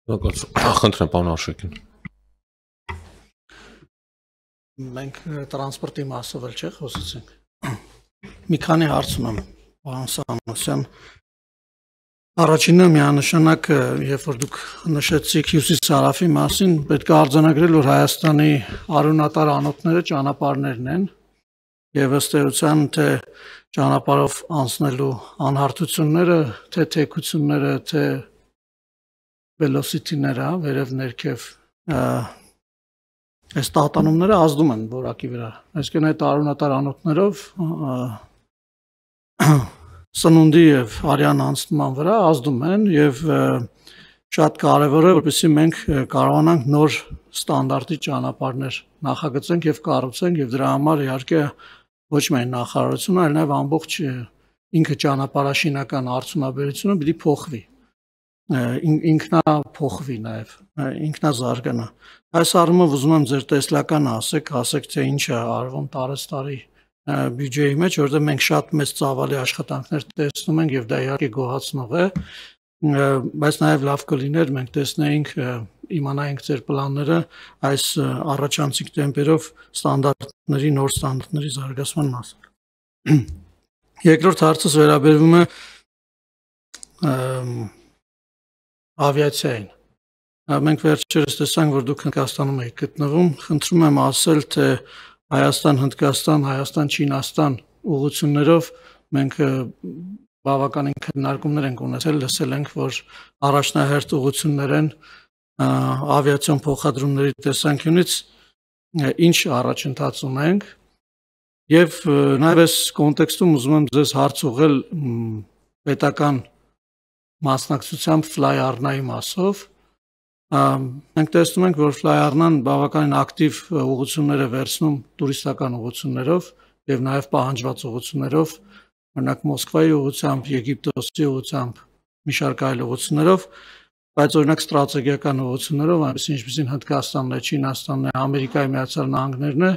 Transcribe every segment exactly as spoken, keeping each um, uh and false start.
Խնդրեմ, պարոն Արշակյան։ Մենք տրանսպորտի մասով էլ չէ խոսեցինք։ Մի քանի հարց ունեմ, պարոն Սամոսյան։ Առաջինը միանշանակ, երբ որ դուք նշեցիք Հյուսիս-Հարավի մասին, պետք է արձանագրել, որ Հայաստանի արյունատար անոթները ճանապարհներն են, եւ ըստ էության թե ճանապարհով անցնելու անհարթությունները, թե թեքությունները, թե velocity-ները, վերև ներքև այս տատանումները ազդում են որակի վրա։ Այսինքն այդ արյունատար անոթներով սնունդի եւ արյան անցնման վրա ազդում են եւ շատ կարեւոր է, որպեսզի մենք կարողանանք նոր ստանդարտի ճանապարհներ նախագծենք եւ կառուցենք եւ դրա համար իհարկե ոչ միայն նախարարությունը, այլ նաեւ ամբողջ ինքը ճանապարհաշինական արդյունաբերությունը պիտի փոխվի։ Ինքնա փոխվի նաեւ, ինքնազարգանա։ Այս առումով ուզում եմ ձեր տեսլականը ասեք, ասեք թե ինչ է արվում տարեստարի բյուջեի մեջ, որտեղ մենք շատ մեծ ծավալի աշխատանքներ տեսնում ենք եւ դա իհարկե գոհացնող է, բայց նաեւ լավ կլիներ մենք տեսնեինք, իմանայինք ձեր պլանները այս առաջանցիկ տեմպերով ստանդարտների, նոր ստանդարտների զարգացման մասին։ Երկրորդ հարցս վերաբերվում է ավիացիային։ Մենք վերջերս տեսանք, որ դուք Հնդկաստանում եք գտնվում, խնդրում եմ ասել, թե Հայաստան-Հնդկաստան, Հայաստան-Չինաստան ուղղություններով մենք բավականին քննարկումներ ենք ունեցել, լսել ենք, որ առաջնահերթ ուղղություններ են ավիացիոն փոխադրումների տեսանկյունից ինչ առաջընթաց ունենք եւ նաեւ այս կոնտեքստում ուզում եմ ձեզ հարց ուղղել պետական մասնակցությամբ Fly-Arna-ի մասով։ Մենք տեսնում ենք, որ Fly-Arna-ն բավականին ակտիվ ուղղություններ է վերցնում տուրիստական ուղղություններով եւ նաեւ պահանջված ուղղություններով, օրինակ Մոսկվայի ուղղությամբ, Եգիպտոսի ուղղությամբ, մի շարք այլ ուղղություններով, բայց օրինակ ստրատեգիական ուղղություններով, այնպես ինչպեսին Հնդկաստանն է, Չինաստանն է, Ամերիկայի Միացյալ Նահանգներն է,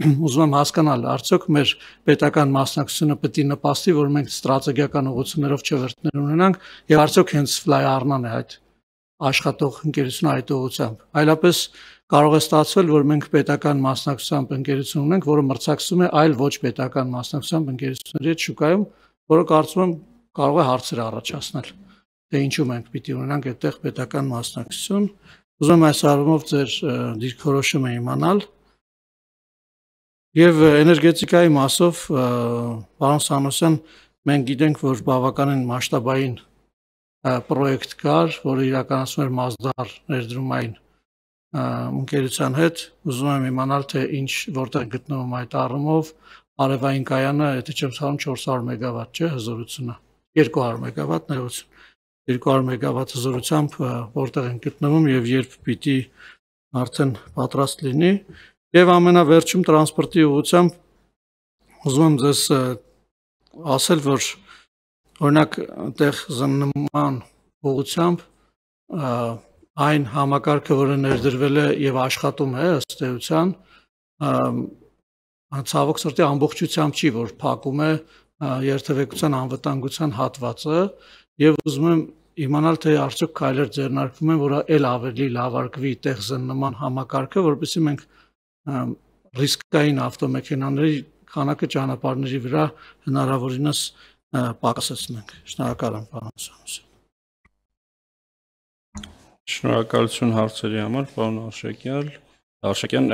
ուզում եմ հասկանալ, արդյոք մեր պետական մասնակցությունը պետք է նպաստի, որ մենք ստրատեգիական ուղղություններով չվերթներ ունենանք, եւ արդյոք հենց Fly-Arna-ն է այդ աշխատող ընկերությունը այդ ուղղությամբ։ Այլապես կարող է ստացվել, որ մենք պետական մասնակցությամբ ընկերություն ունենք, որը մրցակցում է այլ ոչ պետական մասնակցությամբ ընկերությունների հետ շուկայում, որը կարծում եմ կարող է հարցեր առաջացնել, թե ինչու մենք պիտի ունենանք այդտեղ պետական մասնակցություն։ Ուզում եմ այս առումով ձեր դիրքորոշումը իմանալ։ Եվ էներգետիկայի մասով, պարոն Սամոսյան, մենք գիտենք, որ բավականին մասշտաբային պրոյեկտ կար, որը իրականացնում էր Մասդար ներդրումային ընկերության հետ, ուզում եմ իմանալ, թե ինչ որտեղ գտնվում այդ առումով, արևային կայանը, եթե չեմ սխալվում, չորս հարյուր մեգավատ, չէ, հզորությունը, երկու հարյուր մեգավատ ներողություն, երկու հարյուր մեգավատ հզորությամբ որտեղ են գտնվում եւ երբ պիտի արդեն պատրաստ լինի։ Եվ ամենավերջում տրանսպորտի ուղղությամբ ուզում եմ ձեզ ասել, որ օրինակ այդտեղ զննման ուղղությամբ այն համակարգը, որը ներդրվել է եւ աշխատում է ըստ էության, ցավոք սրտի ամբողջությամբ չի, որ փակում է երթևեկության անվտանգության հատվածը եւ ուզում եմ իմանալ, թե արդյոք քայլեր ձեռնարկվում են, որ այլ ավելի լավարկվի այդտեղ զննման համակարգը, որովհետեւ մենք ռիսկային ավտոմեքենաների քանակը ճանապարհների վրա հնարավորինս պակասեցնենք։ Շնորհակալ եմ, պարոն Սամոսյան։ Շնորհակալություն հարցերի համար, պարոն Արշակյան։ Արշակյան,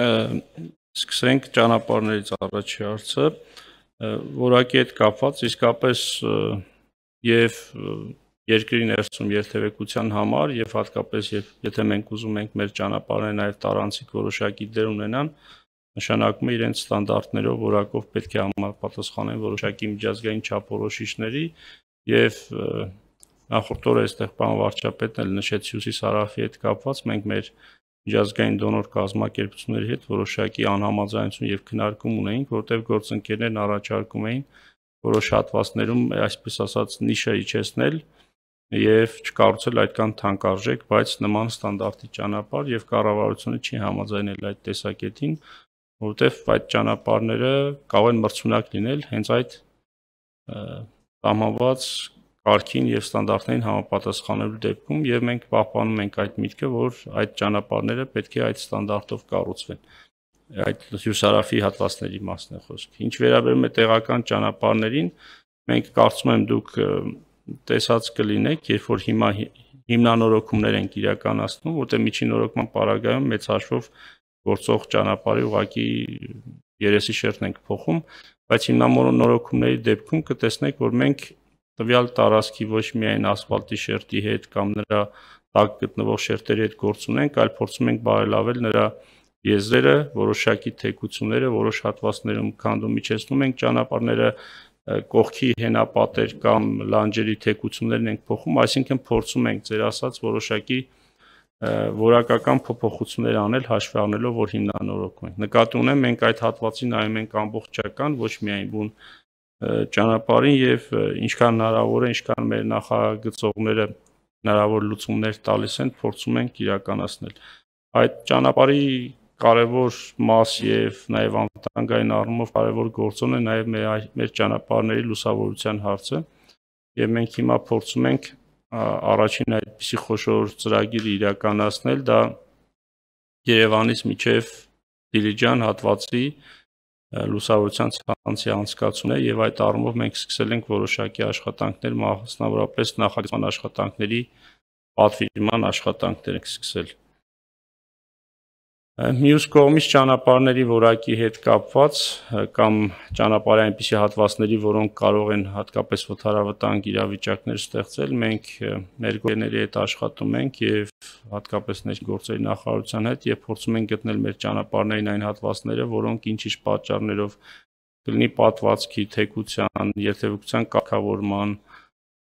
սկսենք ճանապարհներից առաջի հարցը, որակի հետ կապված իսկապես եւ երկրի ներսում երթևեկության համար եւ հատկապես եթե մենք ուզում ենք մեր ճանապարհները նաեւ տարանցիկ որոշակի դեր ունենան, նշանակում է իրենց ստանդարտներով որակով պետք է համապատասխանեն որոշակի միջազգային չափորոշիչների եւ նախորդ օրը այստեղ պարոն վարչապետն էլ նշեց Հյուսիս-Հարավի հետ կապված, մենք մեր միջազգային դոնոր կազմակերպությունների հետ որոշակի անհամաձայնություն եւ քննարկում ունեինք, որտեղ գործընկերներն առաջարկում էին որոշ հատվածներում, այսպես ասած, նիշը իջեցնել եւ չկառուցել այդքան թանկարժեք, բայց նման ստանդարտի ճանապարհ եւ կառավարությունը չի համաձայնել այդ տեսակետին, որովհետեւ այդ ճանապարհները կարող են մրցունակ լինել հենց այդ սահմանված կարգին եւ ստանդարտներին համապատասխանելու դեպքում եւ մենք պահպանում ենք այդ միտքը, որ այդ ճանապարհները պետք է այդ ստանդարտով կառուցվեն։ Այդ հյուսարաֆի հատվածների մասն է խոսքը։ Ինչ վերաբերում է տեղական ճանապարհներին, մենք կարծում եմ դուք տեսած կլինեք, երբ որ հիմա հիմնանորոգումներ ենք իրականացնում, որտեղ միջին նորոգման պարագայում մեծ հաշվով գործող ճանապարհի ուղղակի երեսի շերտն ենք փոխում, բայց հիմնանորոգումների դեպքում կտեսնեք, որ մենք տվյալ տարածքի ոչ միայն ասֆալտի շերտի հետ կամ նրա տակ գտնվող շերտերի հետ գործ ունենք, այլ փորձում ենք բարելավել նրա եզրերը, որոշակի թեքությունները, որոշ հատվածներում քանդում իջեցնում ենք ճանապարհները, կողքի հենապատեր կամ լանջերի թեքություններն ենք փոխում, այսինքն փորձում ենք ձեր ասած որոշակի որակական փոփոխություններ անել հաշվի առնելով, որ հիմնանորոգում ենք։ Նկատի ունեմ, մենք այդ հատվածին նայում ենք ամբողջական, ոչ միայն բուն ճանապարհին եւ ինչքան հնարավոր է, ինչքան մեր նախագծողները հնարավոր լուծումներ տալիս են, փորձում ենք իրականացնել։ Այդ ճանապարհի կարևոր մաս եւ նաեւ անվտանգային առումով կարևոր գործոն է նաեւ մեր, մեր ճանապարհների լուսավորության հարցը եւ մենք հիմա փորձում ենք առաջին այդպիսի խոշոր ծրագիր իրականացնել, դա Երևանից մինչև Դիլիջան հատվածի լուսավորության ցանցի անցկացումն է եւ այդ առումով մենք սկսել ենք որոշակի աշխատանքներ, մասնավորապես նախագծման աշխատանքների պատվիրման աշխատանքներ ենք սկսել։ Մյուս կողմից ճանապարհների որակի հետ կապված կամ ճանապարհի այնպիսի հատվածների, որոնք կարող են հատկապես վթարավտանգ իրավիճակներ ստեղծել, մենք մեր գործերի հետ աշխատում ենք եւ հատկապես ներգործերի նախարարության հետ եւ փորձում ենք գտնել մեր ճանապարհներին այն հատվածները, որոնք ինչ-ինչ պատճառներով կլինի պատվածքի, թեքության, երթևեկության կարգավորման,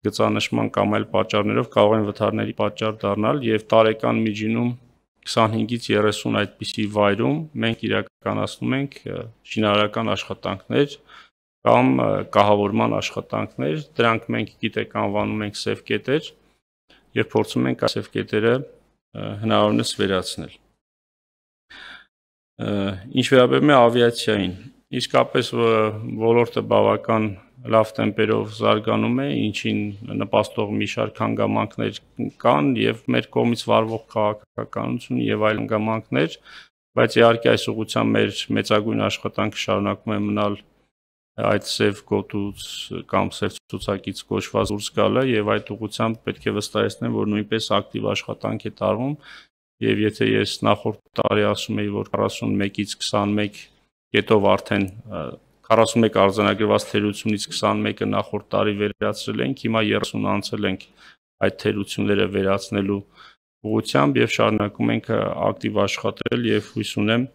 գծանշման կամ այլ պատճառներով կարող են վթարների պատճառ դառնալ եւ տարեկան միջինում քսանհինգից երեսուն այդպիսի վայրում մենք իրականացնում ենք շինարարական աշխատանքներ կամ կահավորման աշխատանքներ, դրանք մենք գիտեք անվանում ենք սև կետեր եւ փորձում ենք այս սև կետերը հնարավորինս վերացնել։ Ինչ վերաբերում է ավիացիային, իսկապես ոլորտը բավական լավ տեմպերով զարգանում է, ինչին նպաստող մի շարք հանգամանքներ կան եւ մեր կողմից վարվող քաղաքականություն եւ այլ հանգամանքներ, բայց իհարկե այս ուղղությամբ մեր մեծագույն աշխատանքը շարունակում է մնալ այդ սև գոտուց կամ սև ցուցակից կոչված դուրս գալը եւ այդ ուղղությամբ պետք է վստահեցնեմ, որ նույնպես ակտիվ աշխատանք է տարվում եւ եթե ես նախորդ տարի ասում էի, որ քառասունմեկից քսանմեկ կետով արդեն քառասունմեկ արձանագրված թերությունից քսանմեկը նախորդ տարի վերացրել ենք, հիմա երեսուն անցել ենք այդ թերությունները վերացնելու ուղղությամբ եւ շարունակում ենք ակտիվ աշխատել եւ հույս ունեմ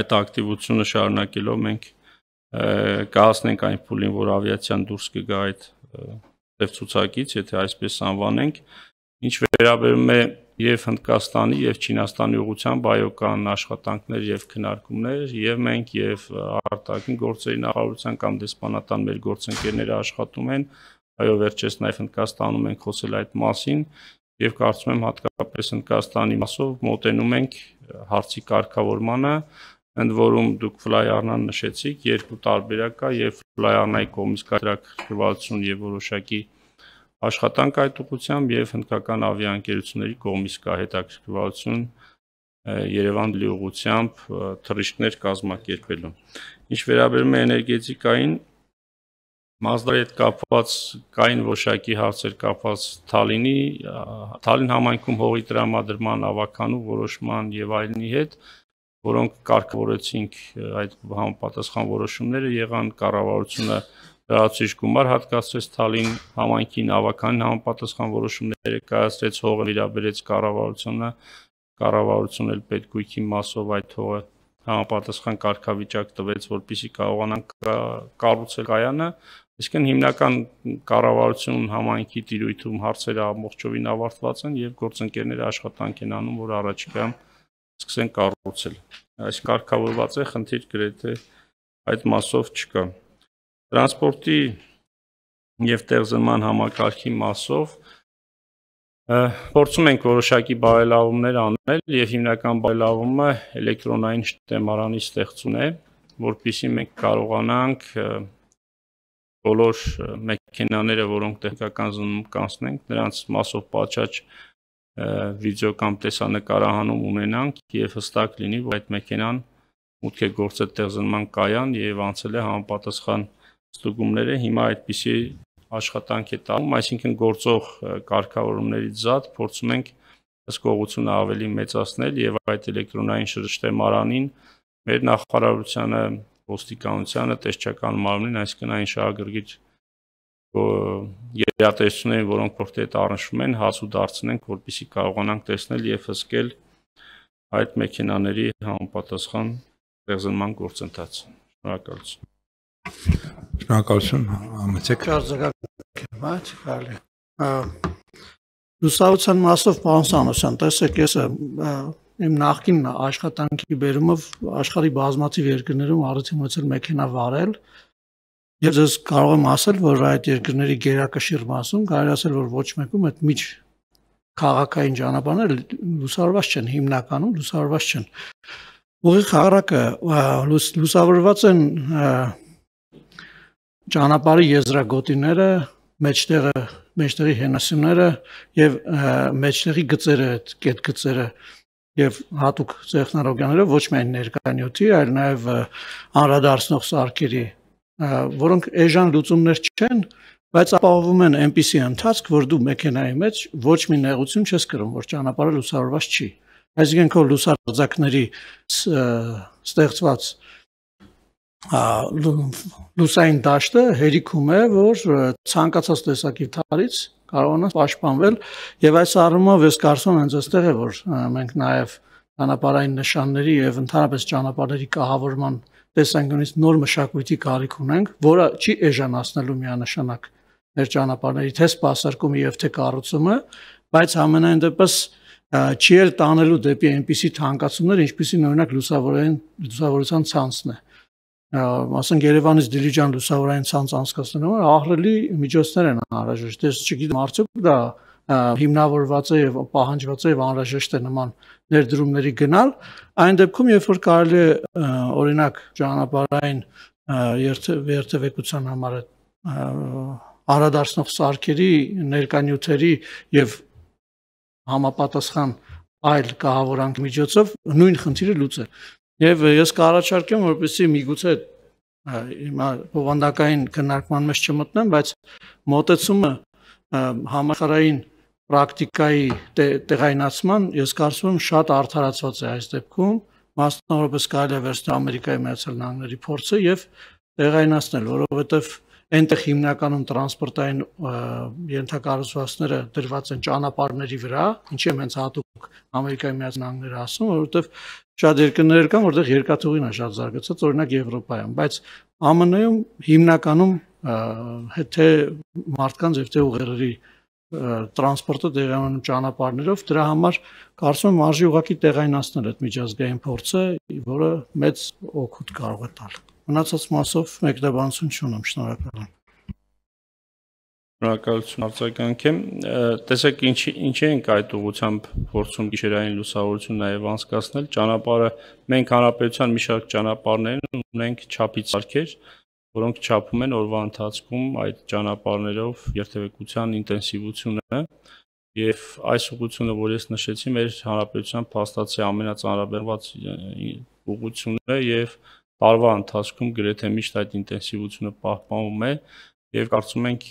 այդ ակտիվությունը շարունակելով մենք կհասնենք այն փուլին, որ ավիացիան դուրս կգա այդ ծև ցուցակից, եթե այսպես անվանենք, ինչ վերաբերում է եւ Հնդկաստանի եւ Չինաստանի ուղղությամբ այոկան աշխատանքներ եւ քննարկումներ եւ մենք եւ արտաքին գործերի նախարարության կամ դեսպանատան մեր գործընկերները աշխատում են, այո վերջերս նաեւ Հնդկաստանում ենք խոսել այդ մասին եւ կարծում եմ հատկապես Հնդկաստանի մասով մոտենում ենք հարցի կարգավորմանը, ընդ որում դուք ֆլայարնան նշեցիք, երկու տարբերակ կա եւ ֆլայարնայի կողմից կարգավորվածություն եւ որոշակի աշխատանք այդ ուղղությամբ եւ հնդկական ավիաընկերությունների կողմից կա հետաքրքրվածություն Երևան-Դիլի ուղղությամբ թռիչքներ կազմակերպելու։ Ինչ վերաբերում է էներգետիկային, Մազդայի հետ կապված կային որոշակի հարցեր կապված Թալինի, Թալին համայնքում հողի տրամադրման, ավականու որոշման եւ այլնի հետ, որոնք կարգավորեցինք այդ համապատասխան որոշումները եղան, կառավարությունը լրացուցիչ գումար հատկացրեց Թալին համայնքին, ավականին համապատասխան որոշումները կայացրեց, հողը վերաբերեց կառավարությունը, կառավարությունն էլ պետգույքի մասով այդ հողը համապատասխան կարգավիճակ տվեց, որպեսզի կարողանան կառուցել կայանը, այսինքն հիմնական կառավարություն համայնքի տիրույթում հարցերը ամբողջովին ավարտված են եւ գործընկերները աշխատանք են անում, որ առաջիկայում սկսեն կառուցել։ Այս կարգավորված է, խնդիր գրեթե այդ մասով չկա։ Տրանսպորտի եւ տեղզնման համակարգի մասով փորձում ենք որոշակի բարելավումներ անել եւ հիմնական բարելավումը էլեկտրոնային շտեմարանի ստեղծումն է, որպեսզի մենք կարողանանք բոլոր մեքենաները, որոնք տեխնիկական զննում կանցնենք, նրանց մասով պատշաճ վիդեո կամ տեսանկարահանում ունենանք եւ հստակ լինի, որ այդ մեքենան մուտք է գործել տեղզնման կայան եւ անցել է համապատասխան ստուգումները։ Հիմա այդպիսի աշխատանք է տանում, այսինքն գործող կարգավորումներից զատ փորձում ենք հսկողությունը ավելի մեծացնել եւ այդ էլեկտրոնային շրջթեմարանին մեր նախարարությանը, ոստիկանությանը, տեսչական մարմնին, այսինքն այն շահագրգիռ երաժշտություններին, որոնք որտեղ այդ առնչվում են, հասու դարձնենք, որպեսզի կարողանանք տեսնել եւ հսկել այդ մեքենաների համապատասխան տեղզնման գործընթացը։ Շնորհակալություն։ Շնորհակալություն, ամեցեք։ Արձագանքեմ, այդ կարելի։ Լուսավորության մասով պարոն Սանոսյան, տեսեք, ես իմ նախկին աշխատանքի բերումով աշխարհի բազմաթիվ երկրներում առիթ ունեցել մեքենա վարել։ Ես ես կարող եմ ասել, որ այդ երկրների գերակշիռ մասում կարելի ասել, որ ոչ մեկում այդ միջ քաղաքային ճանապարհները լուսավորված չեն, հիմնականում լուսավորված չեն։ Ուղիղ հակառակը լուսավորված են ճանապարհի եզրագոտիները, մեջտեղը, մեջտեղի հենասյուները եւ մեջտեղի գծերը, այդ կետ գծերը եւ հատուկ տեխնոլոգիաները ոչ միայն ներկայնյութի, այլ նաեւ անդրադարձնող սարքերի, որոնք էժան լուծումներ չեն, բայց ապահովում են այնպիսի ընթացք, որ դու մեքենայի մեջ ոչ մի նեղություն չես կրում, որ ճանապարհը լուսավորված չի։ Այսինքն քո լուսարձակների ստեղծված լուսային դաշտը հերիքում է, որ ցանկացած տեսակի թարից կարողանաս պաշտպանվել եւ այս առումով ես կարծում եմ հենց այստեղ է, որ մենք նաեւ ճանապարհային նշանների եւ ընդհանրապես ճանապարհների կահավորման տեսանկյունից նոր մշակույթի կարիք ունենք, որը չի էժանացնելու միանշանակ մեր ճանապարհների թե սպասարկումը եւ թե կառուցումը, բայց ամենայն դեպս չի էլ տանելու դեպի այնպիսի թանկացումներ, ինչպիսին օրինակ լուսավորային լուսավորության ցանցն է։ Ասենք Երևանից Դիլիջան լուսավորային ցանց անցկացնելու համար ահռելի միջոցներ են անհրաժեշտ։ Ես չգիտեմ, արդյոք դա հիմնավորված է եւ պահանջված է եւ անհրաժեշտ է նման ներդրումների գնալ, այն դեպքում, երբ որ կարելի է օրինակ ճանապարհային երթևեկության համար անդրադարձնող սարքերի, ներկանյութերի եւ համապատասխան այլ կահավորանք միջոցով նույն խնդիրը լուծել։ Եվ ես կառաջարկեմ, որպեսզի միգուցե հիմա բովանդակային քննարկման մեջ չմտնեմ, բայց մոտեցումը համաշխարհային պրակտիկայի տեղայնացման ես կարծում եմ շատ արդարացված է այս դեպքում, մասնավորապես կարելի է վերցնել Ամերիկայի Միացյալ Նահանգների փորձը եւ տեղայնացնել, որովհետեւ այնտեղ հիմնականում տրանսպորտային ենթակառուցվածքները դրված են ճանապարհների վրա, ինչի եմ հենց հատուկ Ամերիկայի Միացյալ Նահանգները ասում, որովհետեւ շատ երկրներ կան, որտեղ երկաթուղին է շատ զարգացած, օրինակ Եվրոպայում, բայց ԱՄՆ -ում հիմնականում թե մարդկանց եւ թե ուղեղերի տրանսպորտը տեղանում ճանապարհներով, դրա համար կարծում եմ արժի ուղղակի տեղայնացնել այդ միջազգային փորձը, որը մեծ օգուտ կարող է տալ։ Մնացած մասով մեկնաբանություն չունեմ, շնորհակալ եմ։ Շնորհակալություն արձագանքեմ։ Տեսեք, ինչ ինչ ենք այդ ուղղությամբ փորձում գիշերային լուսավորություն նաև անցկացնել։ Ճանապարհը մենք հանրապետության մի շարք ճանապարհներ ունենք չափից սարքեր, որոնք չափում են օրվա ընթացքում այդ ճանապարհներով երթևեկության ինտենսիվությունը եւ այս ուղղությունը, որ ես նշեցի, մեր հանրապետության փաստացի ամենածանրաբեռնված ուղղությունն է եւ տարվա ընթացքում գրեթե միշտ այդ ինտենսիվությունը պահպանվում է եւ կարծում ենք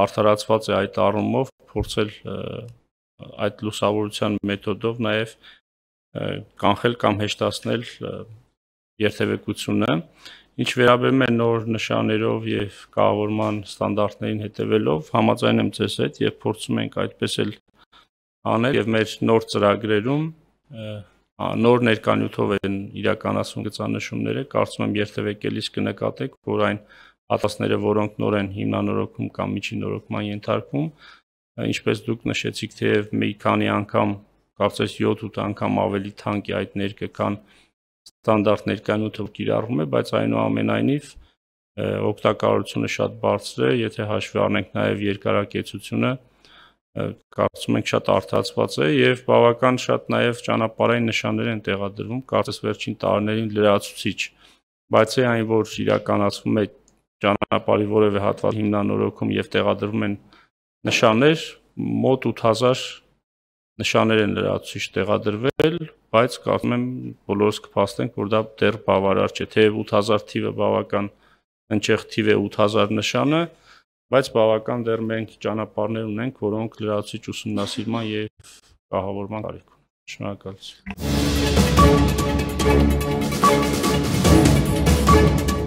արդարացված է այդ առումով փորձել այդ լուսավորության մեթոդով նաեւ կանխել կամ հեշտացնել երթևեկությունը։ Ինչ վերաբերում է նոր նշաններով եւ կահավորման ստանդարտներին հետևելով, համաձայն եմ ձեզ հետ եւ փորձում ենք այդպես էլ անել եւ մեր նոր ծրագրերում նոր ներկանյութով են իրականացում գծանշումները, կարծում եմ երթևեկելիս կնկատեք, որ այն հատվածները, որոնք նոր են հիմնանորոգում կամ միջինորոգման ենթարկվում, ինչպես դուք նշեցիք, թեև մի քանի անգամ, կարծես յոթ-ութ անգամ ավելի թանկ է այդ ներկը, քան ստանդարտ ներկանյութը կիրառվում է, բայց այնուամենայնիվ օգտակարությունը շատ բարձր է, եթե հաշվի առնենք նաև երկարակեցությունը, կարծում ենք շատ արդարացված է եւ բավական շատ նաև ճանապարհային նշաններ են տեղադրվում, կարծես վերջին տարիներին լրացուցիչ, բայց այն որ իրականացվում է ճանապարհի որևէ հատված հիմնանորոգում եւ տեղադրվում են նշաններ, մոտ ութ հազար նշաններ են լրացուցիչ տեղադրվել, բայց կարծում եմ բոլորս կփաստենք, որ դա դեռ բավարար չէ, թեև ութ հազար թիվը բավական հնչեղ թիվ է ութ հազար նշանը, բայց բավական դեռ մենք ճանապարհներ ունենք, որոնք լրացուցիչ ուսումնասիրման եւ կահավորման կարիք ունեն։ Շնորհակալություն։